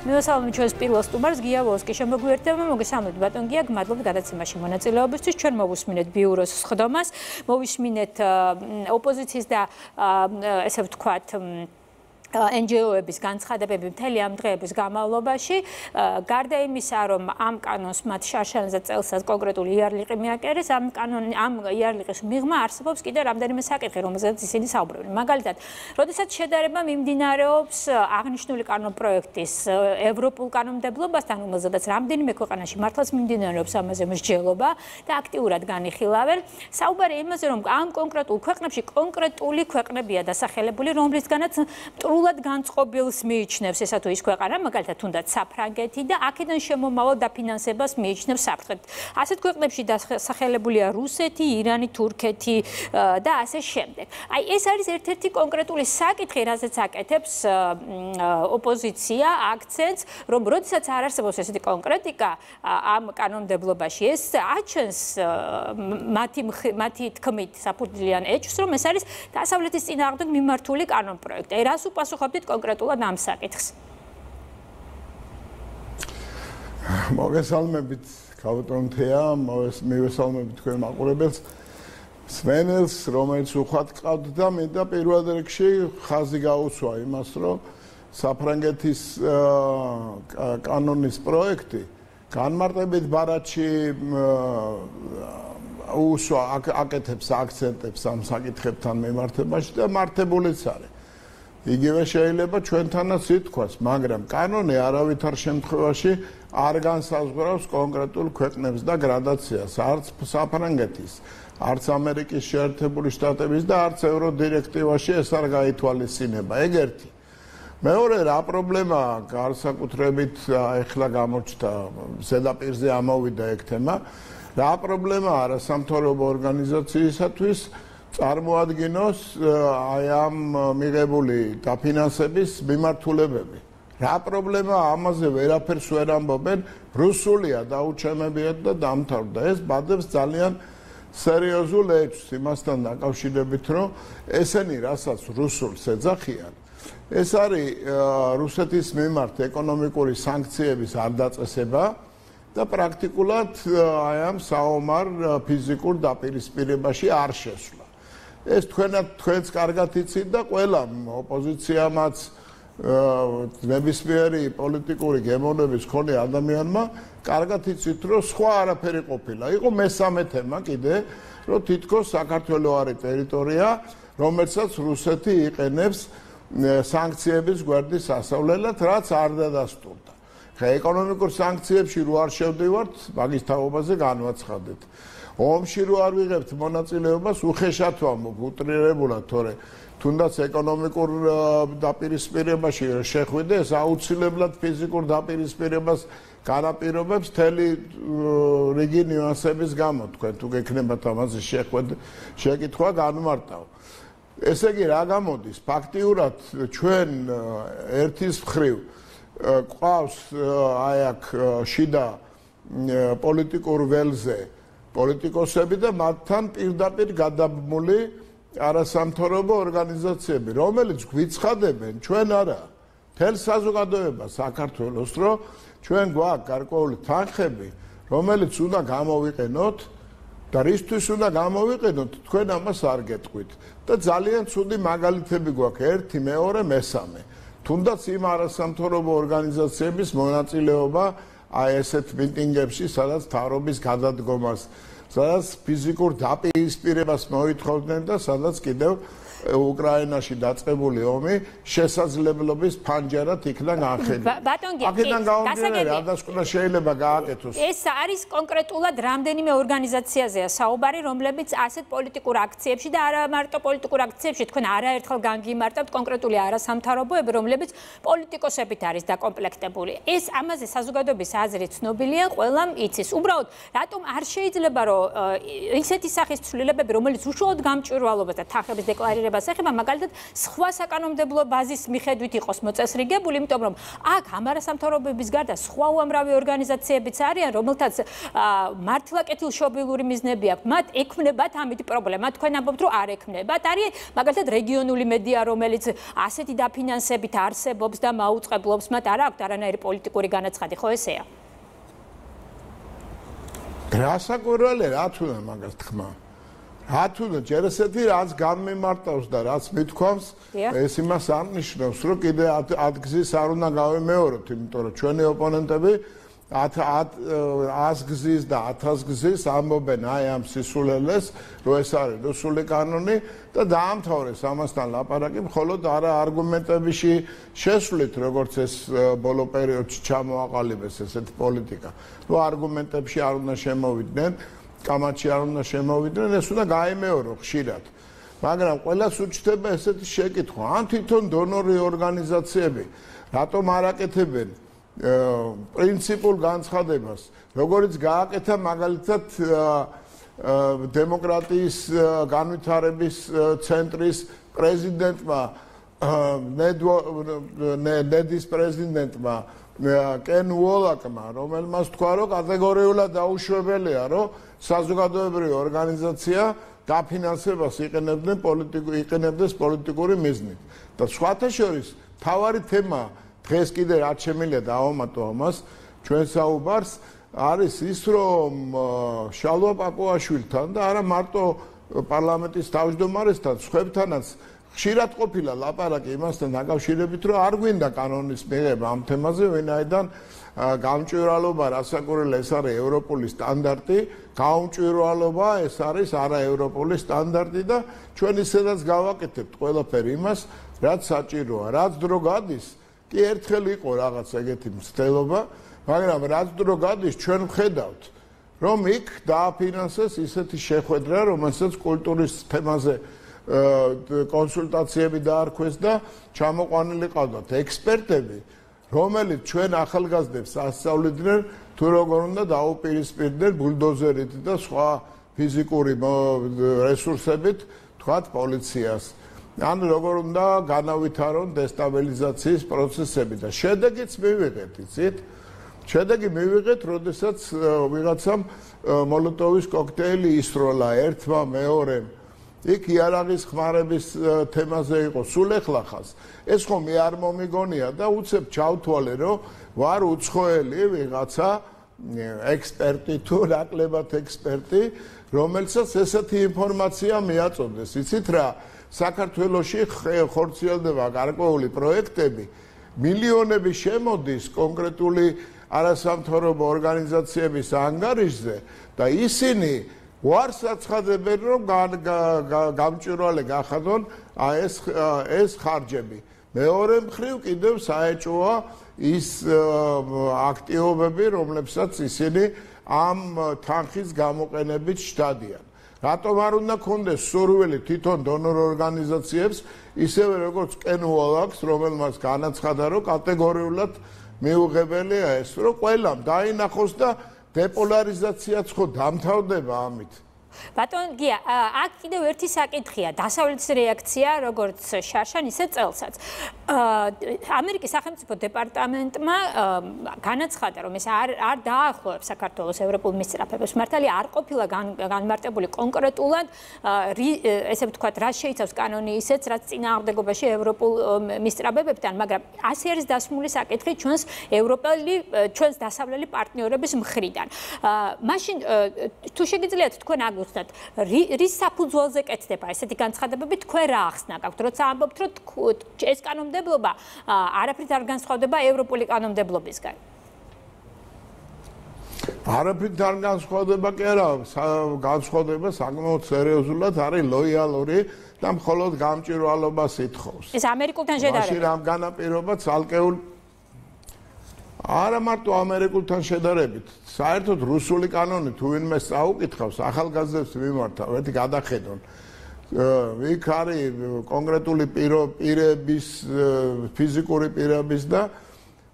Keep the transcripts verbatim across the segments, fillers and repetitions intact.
მივესალმებით ჩვენს პირველ სტუმარს გია ვოლსკი. შემოგვიერთდება, მოგესალმებით ბატონ გია, გმადლობთ გადაცემაში მონაწილეობისთვის. ჩვენ მოვისმინეთ ბიუროს სხდომას, მოვისმინეთ ოპოზიციის და ესე ვთქვათ N G O-ების განცხადებები მთელი ამ დღეების განმავლობაში, გარდა იმისა, რომ ამ კანონს მათ შარშანზე წელსაც კონკრეტული იარლიყი მიაკერეს, ამ კანონ ამ იარლიყის მიღმა არსებობს კიდევ რამდენიმე საკითხი, რომელზეც ისინი საუბრობენ. მაგალითად, როდესაც შედარება მიმდინარეობს აღნიშნული კანონპროექტის ევროპულ კანონმდებლობასთან, რომელზედაც რამდენიმე ქვეყანაში მართლაც მიმდინარეობს ამაზე მსჯელობა და აქტიურად განიხილავენ, საუბარი იმაზე, რომ ამ კონკრეტულ ქვეყნებში კონკრეტული ქვეყნებია დასახელებული, რომლისგანაც სრულად განწყობილს მიიჩნევს ესა თუ ის ქვეყანა, მაგალითად თუნდაც საფრანგეთი და აქედან შემომავალ დაფინანსებას მიიჩნევს საფრთხედ. ასეთ ქვეყნებში დასახელებულია რუსეთი, ირანი, თურქეთი და ასე შემდეგ. აი ეს არის ერთ-ერთი კონკრეტული საკითხი, რაზეც აკეთებს ოპოზიცია აქცენტს, რომ როდესაც არ არსებობს ესეთი კონკრეტიკა ამ კანონმდებლობაში, ეს აჩენს მათი მათი თქმით საფუძვლიან ეჭვს, რომ ეს არის დასავლეთის წინააღმდეგ მიმართული კანონპროექტი. აი რას უპასუხობთ კონკრეტულად ამ საკითხს? მოგესალმებით, ქავტონთეა, მივესალმებით თქვენ მაყურებელს, სვენელს, რომელიც უხვად ყავთ და მე და პირველ რიგში ხაზი გაუსვა იმას, რომ საფრანგეთის კანონის პროექტი განმარტებით ბარათში უსვა აკეთებს აქცენტებს ამ საკითხებთან მიმართებაში და მართებულიც არის. იგივე შეიძლება ჩვენთანაც ითქვას, მაგრამ კანონი არავითარ შემთხვევაში არ განსაზღვრავს კონკრეტულ ქვეყნებს და გრადაციას, არც საფრანგეთის, არც ამერიკის შეერთებული შტატების და არც ევროდირექტივაში ეს არ გაითვალისწინება. ეგ ერთი. მეორე, რა პრობლემაა განსაკუთრებით ეხლა გამოჩნდა ზედაპირზე ამოვიდა ეგ თემა, რა პრობლემაა არასამთავრობო ორგანიზაციისათვის წარმოადგინოს აი ამ მიღებული დაფინანსების მიმართულებები. რა პრობლემაა ამაზე ვერაფერს ვერ ამბობენ, რუსულია დაუჩემებიათ და დამთავრდა. ეს ბადებს ძალიან სერიოზულ ეჭვს იმასთან დაკავშირებით, რომ ესენი რასაც რუსულს ეძახიან, ეს არის რუსეთის მიმართ ეკონომიკური სანქციების არ დაწესება და პრაქტიკულად აი ამ საომარ ფიზიკურ დაპირისპირებაში არ შესვლა. ეს თქვენად თქვენც კარგად იცით და ყველა ოპოზიციამაც ნებისმიერი პოლიტიკური გემოვნების მქონე ადამიანმა კარგად იცით, რომ სხვა არაფერი ყოფილა. იყო მესამე თემა კიდე, რომ თითქოს საქართველოს არის ტერიტორია, რომელსაც რუსეთი იყენებს სანქციების გვერდის ასავლელად, რაც არ დადასტურდა. ხა ეკონომიკურ სანქციებში რო არ შევდივართ, მაგის თაობაზე განვაცხადეთ. ომში რო არ ვიღებთ მონაწილეობას, უხეშად ვამბობ, უტრირებულად, თორე თუნდაც ეკონომიკურ დაპირისპირებაში შეხვიდე, ეს აუცილებლად ფიზიკურ დაპირისპირებას განაპირობებს მთელი რიგი ნიუანსების გამო, თქვენ თუ გექნებათ ამაზე შეკითხვა განმარტავ. ესე იგი, რა გამოდის? ფაქტიურად ჩვენ ერთის მხრივ ყავს აი აქ შიდა პოლიტიკურ ველზე პოლიტიკოსები და მათთან პირდაპირ გადაბმული არასამთავრობო ორგანიზაციები, რომელიც გვიცხადებენ, ჩვენ არა, მთელ საზოგადოებას საქართველოს, რომ ჩვენ გვაქვს გარკვეული თანხები, რომელიც უნდა გამოვიყენოთ და რისთვის უნდა გამოვიყენოთ, თქვენ ამას არ გეტყვით. და ძალიან ცუდი მაგალითები გვაქვს, ერთი, მეორე, მესამე. თუნდაც იმ არასამთავრობო ორგანიზაციების მონაწილეობა აი ესეთ მიტინგებში, სადაც თავრობის გადადგომას, სადაც ფიზიკურ დაპირისპირებას მოითხოვდნენ და სადაც კიდევ უკრაინაში დაწყებული ომი შესაძლებლობის ფანჯარად იქნა განხილული. აქედან გამომდინარე, ადასკვნა შეიძლება გააკეთოს. ეს არის კონკრეტულად რამდენიმე ორგანიზაციაზეა საუბარი, რომლებიც ასეთ პოლიტიკურ აქციებში და არა მარტო პოლიტიკურ აქციებში, თქვენ არაერთხელ განგიმარტებთ კონკრეტული არასამთავრობოები, რომლებიც პოლიტიკოსებით არის დაკომპლექტებული. ეს ამაზე საზოგადოების აზრი ცნობილია, ყველამ იცის. უბრალოდ, რატომ არ შეიძლება, რომ ისეთი სახის ცვლილებები, რომელიც უშუალოდ გამჭვირვალობას და თანხების დეკლარირებას განმარტებას ეხება, მაგალითად, სხვა საკანონმდებლო ბაზის მიხედვით იყოს მოწესრიგებული, იმიტომ რომ აქ ამ არასამთავრობოების გარდა სხვა უამრავი ორგანიზაციებიც არიან, რომელთაც მართლა კეთილშობილური მიზნები აქვს. მათ ექმნებათ ამით პრობლემა. თქვენ ამბობთ, რომ არ ექმნებათ. არის მაგალითად რეგიონული მედია, რომელიც ასეთი დაფინანსებით არსებობს და მაუწყებლობს, მათ არ აქვთ არანაირი პოლიტიკური განაცხადი, ხო ესეა? რასაკვირველია, რა თქმა მაგას თქმა. რა თქმა ჯერ ესეთი რაც განმემარტავს და რაც მithქვამს, ეს იმას არ ნიშნავს, რომ კიდე ათ გზის არ უნდა გავემეოროთ, იმიტომ რომ ჩვენი ოპონენტები ათას გზის და ათას გზის ამბობენ აი ამ სისულელეს, რომ ეს არის რუსული კანონი და დაამთავრეს ამასთან ლაპარაკი, მხოლოდ არა არგუმენტებიში შესვლით, როგორც ეს ბოლო პერიოდში ჩამოაყალიბეს ესეთი პოლიტიკა, რომ არგუმენტებში არ უნდა შემოვიდნენ, კამათში არ უნდა შემოვიდნენ, ეს უნდა გაიმეორო ხშირად. მაგრამ ყველას უჩნდება ესეთი შეკითხვა, ან თვითონ დონორი ორგანიზაციები რატომ არ აკეთებენ პრინციპულ განცხადებას, როგორც გააკეთა მაგალითად დემოკრატიის განვითარების ცენტრის პრეზიდენტმა, ნედის პრეზიდენტმა კენ უოლაკმა, რომელმაც თქვა, რომ კატეგორიულად დაუშვებელია, რომ საზოგადოებრივი ორგანიზაცია დაფინანსებას იყენებდნენ პოლიტიკურ იყენებდეს პოლიტიკური მიზნით. და სხვათა შორის მთავარი თემა დღეს კიდე რაც შემიძლია დავამატო ამას ჩვენ საუბარს არის ის რომ შალვა პაპუაშვილთან და არა მარტო პარლამენტის თავმჯდომარესთან სხვებთანაც ხშირად ყოფილა ლაპარაკი იმასთან დაკავშირებით რომ არ გვინდა კანონის მიღება ამ თემაზე ვინაიდან გამჭვირვალობა რასაკვირველია ეს არის ევროპული სტანდარტი გამჭვირვალობა ეს არის არაევროპული სტანდარტი და ჩვენ ისედაც გავაკეთებთ ყველაფერი იმას რაც საჭიროა რაც დრო გადის კი ერთხელ იყო რაღაც ეგეთი მცდელობა, მაგრამ რაც დრო გადის ჩვენ ვხედავთ, რომ იქ დააფინანსეს ისეთი შეხვედრა, რომელსაც კულტურის თემაზე კონსულტაციები დაარქვეს და ჩამოყვანილი ყავდათ ექსპერტები, რომელიც ჩვენ ახალგაზრდებს ასწავლიდნენ, თუ როგორ უნდა დაუპირისპირდნენ ბულდოზერით და სხვა ფიზიკური რესურსებით, თქვათ პოლიციას. ან როგორ უნდა განავითარონ დესტაბილიზაციის პროცესები და შედეგიც მივიღეთ, იცით? შედეგი მივიღეთ, როდესაც ვიღაცამ მოლოტოვის კოქტეილი ისროლა ერთმა მეორემ. იქ იარაღის ხმარების თემაზე იყო სულ ეხლახას. ეს ხომ მე არ მომიგონია და უცებ ჩავთვალე, რომ ვარ უცხოელი ვიღაცა ექსპერტი თუ ნაკლებად ექსპერტი, რომელსაც ესეთი ინფორმაცია მიაწოდეს. იცით რა? საქართველოში ხორციელდება გარკვეული პროექტები, მილიონები შემოდის კონკრეტული არასამთავრობო ორგანიზაციების ანგარიშზე და ისინი უარს აცხადებენ, რომ გამჭვირვალე გახადონ ეს ეს ხარჯები. მეორე მხრივ კიდევ საეჭვოა ის აქტივობები, რომლებსაც ისინი ამ თანხის გამოყენებით შდადიან. რატომ არ უნდა კონდეს სურვილი თვითონ დონორ ორგანიზაციებს, ისევე როგორც კენ უოლაკს, რომელმაც განაცხადა, რომ კატეგორიულად მიუღებელია ეს, რომ ყველამ დაინახოს და დეპოლარიზაციაც ხო დამთავრდება ამით. ბატონ გია, აქ კიდევ ერთი საკითხია, დასავლეთის რეაქცია, როგორც შარშან, ისე წელსაც. ამერიკის სახელმწიფო დეპარტამენტმა განაცხადა, რომ ეს არ არ დაახლოებს საქართველოს ევროპულ მისწრაფებებს. მართალია არ ყოფილა განმარტებული კონკრეტულად, ესე ვთქვათ, რაც შეიცავს კანონი ისეც, რაც წინააღმდეგობაში ევროპულ მისწრაფებებთან, მაგრამ ასე არის დასმული საკითხი ჩვენს ევროპელი, ჩვენს დასავლელი პარტნიორების მხრიდან. მაშინ თუ შეგიძლიათ თქვენ აგ რის საფუძველზე კეთდება ესეთი განცხადებები, თქვენ რა ახსნა გაქვთ, როცა ამბობთ, რომ ეს კანონმდებლობა არაფრით არ განსხვავდება ევროპული კანონმდებლობისგან? არაფრით არ განსხვავდება, კი არა, განსხვავდება საკმაოდ სერიოზულად, არის ლოიალური და მხოლოდ გამჭვირვალობას ითხოვს. ეს ამერიკულთან შედარებით. მაშინ ამ განაპირობა ცალკეულ არა მარტო ამერიკულთან შედარებით, საერთოდ რუსული კანონი თუ ვინმე წაუკითხავს ახალგაზრდებს მიმართა, ერთი გადახედონ. იქ არის კონკრეტული პირების, ფიზიკური პირების და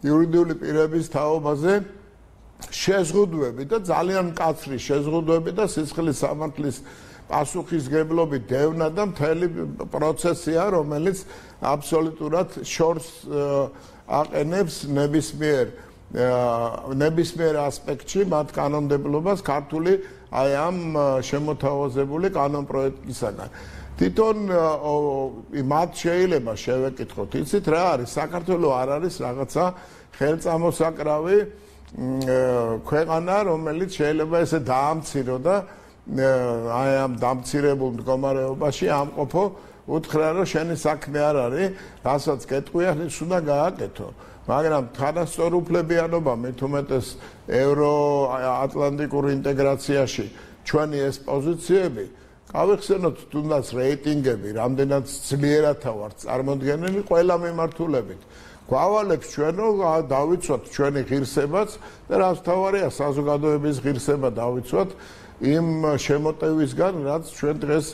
იურიდიული პირების თაობაზე შეზღუდვები და ძალიან მკაცრი შეზღუდვები და სისხლის სამართლის პასუხისგებლობით დევნა და მთელი პროცესია, რომელიც აბსოლუტურად შორს აყენებს ნებისმიერ ნებისმიერ ასპექტში მათ კანონმდებლობას ქართული აი ამ შემოთავაზებული კანონპროექტისაგან. თვითონ მათ შეიძლება შევეკითხოთ, იცით რა არის, საქართველოს არ არის რაღაცა ხელწამოსაკრავი ქვეყანა, რომელიც შეიძლება ესე დაამცირო და აი ამ დამცირებულ მდგომარეობაში ამყოფო უთხრა რომ შენი საქმე არ არის, რასაც გეტყვია, ის უნდა გააკეთო. მაგრამ თანასწორუფლებიანობა მით უმეტეს ევროატლანტიკურ ინტეგრაციაში ჩვენი ეს პოზიციები გავიხსენოთ თუნდაც რეიტინგები, რამდენად ძლიერათა ვართ წარმოდგენილი ყველა მიმართულებით. გვავალებს ჩვენო დავიცვათ ჩვენი ღირსებაც და რაც თავარია საზოგადოების ღირსება დავიცვათ იმ შემოტევისგან, რაც ჩვენ დღეს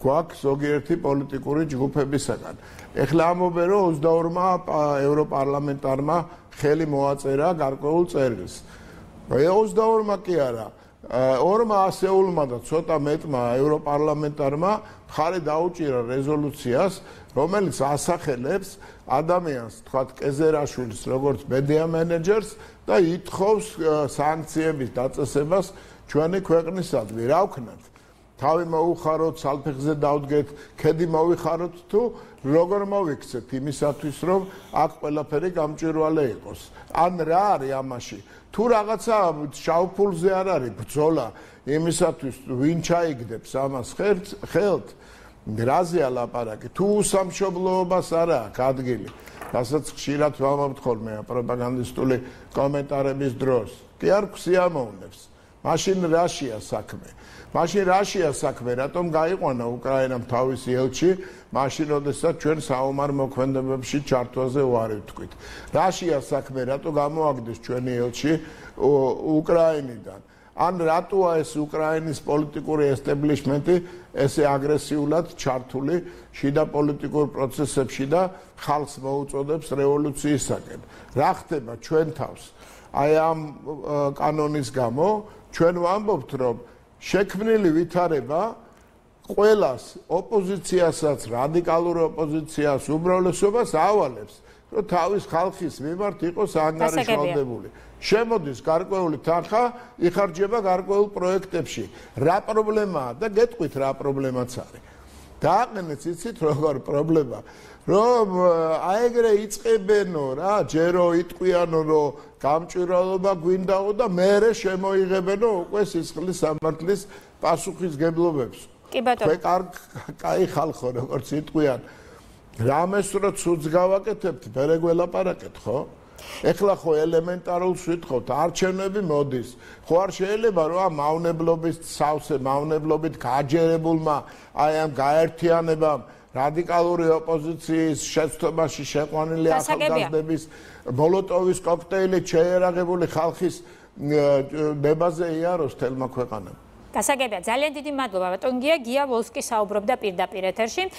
გვაქვს ზოგიერთი პოლიტიკური ჯგუფებისაგან. ეხლა ამობენ რომ ოცდაორმა ევროპარლამენტარმა ხელი მოაწერა გარკვეულ წერილს. ოცდაორმა კი არა, ორმა ასეულმა და ცოტა მეტმა ევროპარლამენტარმა მხარი დაუჭირა რეზოლუციას, რომელიც ასახელებს ადამიანს, თქვათ კეზერაშვილის როგორც მედია მენეჯერს და ითხოვს სანქციების დაწესებას ჩვენი ქვეყნისადმი. რა ვქნათ? თავი მოუხაროთ, სალფეხზე დავდგეთ, ქედი მოვიხაროთ თუ როგორ მოვიქცეთ იმისათვის, რომ აქ ყველაფერი გამჭვირვალე იყოს. ან რა არის ამაში? თუ რაღაცა შავფულზე არ არის ბრძოლა იმისათვის, ვინ ჩაიგდებს ამას ხელთ, რაზეა ლაპარაკი? თუ უსამშობლოობას არ აქვს ადგილი, რასაც ხშირად ვამბობთ ხოლმე პროპაგანდისტული კომენტარების დროს, კი არ გვსიამოვნებს. მაშინ რაშია საქმე? მაშინ რაშია საქმე, რატომ გაიყვანა უკრაინამ თავისი ელჩი, მაშინ როდესაც ჩვენ საომარ მოქმედებებში ჩართვაზე უარი ვთქვით. რაშია საქმე, რატო გამოაგდეს ჩვენი ელჩი უკრაინიდან? ან რატოა ეს უკრაინის პოლიტიკური ესტაბლიშმენტი ესე აგრესიულად ჩართული შიდა პოლიტიკურ პროცესებში და ხალხს მოუწოდებს რევოლუციისაკენ? რა ხდება ჩვენ თავს? აი ამ კანონის გამო ჩვენ ვამბობთ, რომ შექმნილი ვითარება ყველას ოპოზიციასაც, რადიკალურ ოპოზიციას, უმრავლესობას ავალებს, რომ თავის ხალხის მიმართ იყოს ანგარიშვალდებული. შემოდის გარკვეული თანხა, იხარჯება გარკვეულ პროექტებში. რა პრობლემაა და გეტყვით რა პრობლემაც არის. დააყენეთ, იცით როგორ პრობლემა, რომ აეგრე იწყებენო რა, ჯერო იტყვიანო, რომ გამჭვირვალობა გვინდაო და მერე შემოიღებენო უკვე სისხლის სამართლის პასუხისგებლობებს. კი ბატონო. თქვენ კარგ კაი ხალხო, როგორც იტყვიან, რამეს რო ცუდს გავაკეთებთ, მერე გველაპარაკეთ, ხო? ეხლა ხო ელემენტარულს ვიტყოთ, არჩევნები მოდის. ხო არ შეიძლება რომ ამ მავნებლობის სავსე მავნებლობით გაჯერებულმა აი ამ გაერთიანებამ რადიკალური ოპოზიციის შეცდომაში შეყვანილი ახალგაზრდების მოლოტოვის კოქტეილით შეერაღებული ხალხის ნებაზე იაროს თელმა ქვეყანამ. გასაგებია, ძალიან დიდი მადლობა ბატონ გია, გია ვოლსკი საუბრობდა პირდაპირ ეთერში.